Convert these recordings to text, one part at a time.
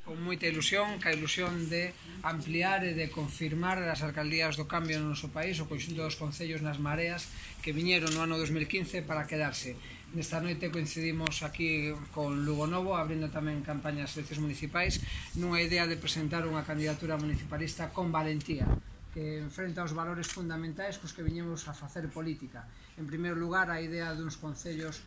con moita ilusión, ca ilusión de ampliar e de confirmar as alcaldías do cambio no noso país, o conxunto dos concellos nas mareas que viñeron no ano 2015 para quedarse. Nesta noite coincidimos aquí con Lugo Novo, abrindo tamén campañas de eleccións municipais, nunha idea de presentar unha candidatura municipalista con valentía, que enfrenta os valores fundamentais cos que viñemos a facer política. En primeiro lugar, a idea duns concellos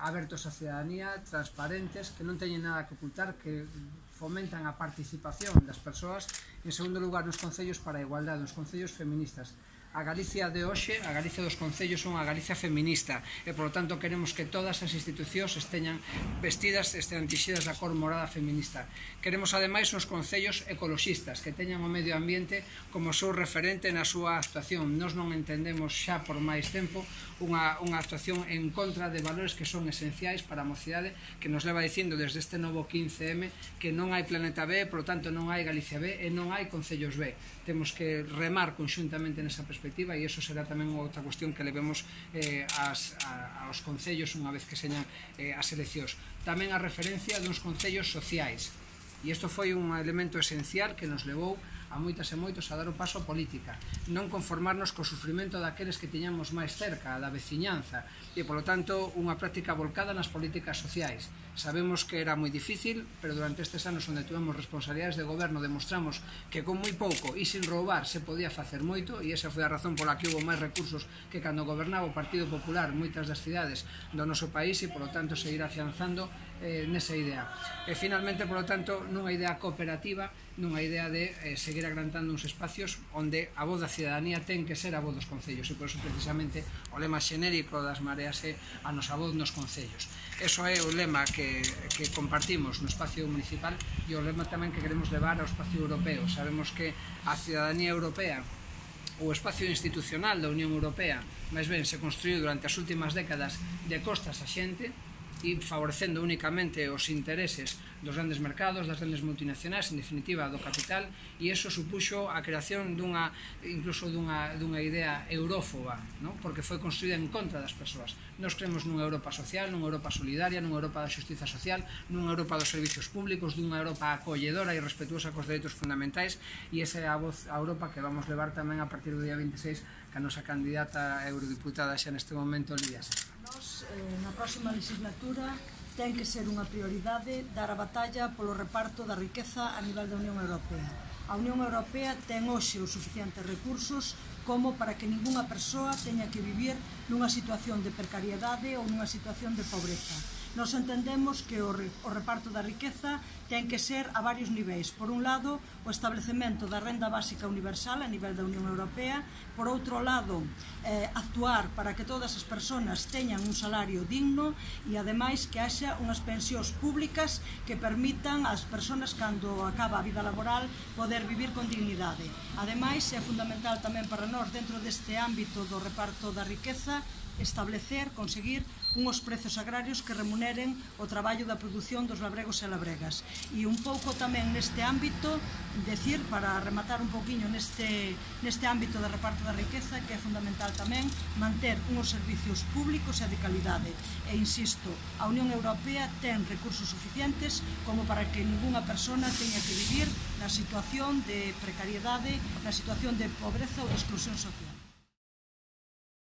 abertos á cidadanía, transparentes, que non teñen nada que ocultar, que fomentan a participación das persoas. En segundo lugar, nos concellos para a igualdade, nos concellos feministas. A Galicia de hoxe, a Galicia dos concellos, son a Galicia feminista e, por lo tanto, queremos que todas as institucións esteñan vestidas, estean tixidas da cor morada feminista. Queremos, ademais, uns concellos ecoloxistas que teñan o medio ambiente como seu referente na súa actuación. Nós non entendemos xa por máis tempo unha actuación en contra de valores que son esenciais para a mocidade, que nos leva dicindo desde este novo 15M que non hai Planeta B, por lo tanto non hai Galicia B e non hai Concellos B. Temos que remar conxuntamente nesa perspectiva e iso será tamén outra cuestión que levemos aos concellos unha vez que señan as eleccións. Tamén a referencia duns concellos sociais. E isto foi un elemento esencial que nos levou a moitas e moitos a dar o paso a política, non conformarnos co sufrimento daqueles que tiñamos máis cerca, da veciñanza, e, polo tanto, unha práctica volcada nas políticas sociais. Sabemos que era moi difícil, pero durante estes anos onde tuvemos responsabilidades de goberno demostramos que con moi pouco e sin roubar se podía facer moito, e esa foi a razón pola que houve máis recursos que cando gobernaba o Partido Popular moitas das cidades do noso país e, polo tanto, seguir afianzando nesa idea. E, finalmente, polo tanto, nunha idea cooperativa, nunha idea de seguir agrantando uns espacios onde a voz da cidadanía ten que ser a voz dos concellos, e por iso precisamente o lema xenérico das mareas é a nosa voz nos concellos. Eso é o lema que compartimos no espacio municipal e o lema tamén que queremos levar ao espacio europeo. Sabemos que a cidadanía europea, o espacio institucional da Unión Europea, máis ben se construiu durante as últimas décadas de costas a xente, e favorecendo únicamente os intereses dos grandes mercados, das grandes multinacionais, en definitiva do capital, e iso supuxo a creación incluso dunha idea eurófoba, porque foi construída en contra das persoas. Nos creemos nunha Europa social, nunha Europa solidaria, nunha Europa da xustiza social, nunha Europa dos servicios públicos, dunha Europa acolledora e respetuosa cos dereitos fundamentais, e esa é a voz a Europa que vamos levar tamén a partir do día 26 que a nosa candidata a eurodiputada xa neste momento, Lidia Serra. Na próxima legislatura ten que ser unha prioridade dar a batalla polo reparto da riqueza a nivel da Unión Europea. A Unión Europea ten hoxe os suficientes recursos como para que ningunha persoa teña que vivir nunha situación de precariedade ou nunha situación de pobreza. Nos entendemos que o reparto da riqueza ten que ser a varios niveis. Por un lado, o establecemento da renda básica universal a nivel da Unión Europea. Por outro lado, actuar para que todas as persoas teñan un salario digno e, ademais, que haxa unhas pensións públicas que permitan ás persoas, cando acaba a vida laboral, poder vivir con dignidade. Ademais, é fundamental tamén para nós, dentro deste ámbito do reparto da riqueza, conseguir unhos prezos agrarios que remuneren o traballo da produción dos labregos e labregas. E un pouco tamén neste ámbito, decir, para rematar un pouquiño neste ámbito de reparto da riqueza, que é fundamental tamén manter unhos servicios públicos e de calidade. E insisto, a Unión Europea ten recursos suficientes como para que ningunha persona teña que vivir na situación de precariedade, na situación de pobreza ou de exclusión social.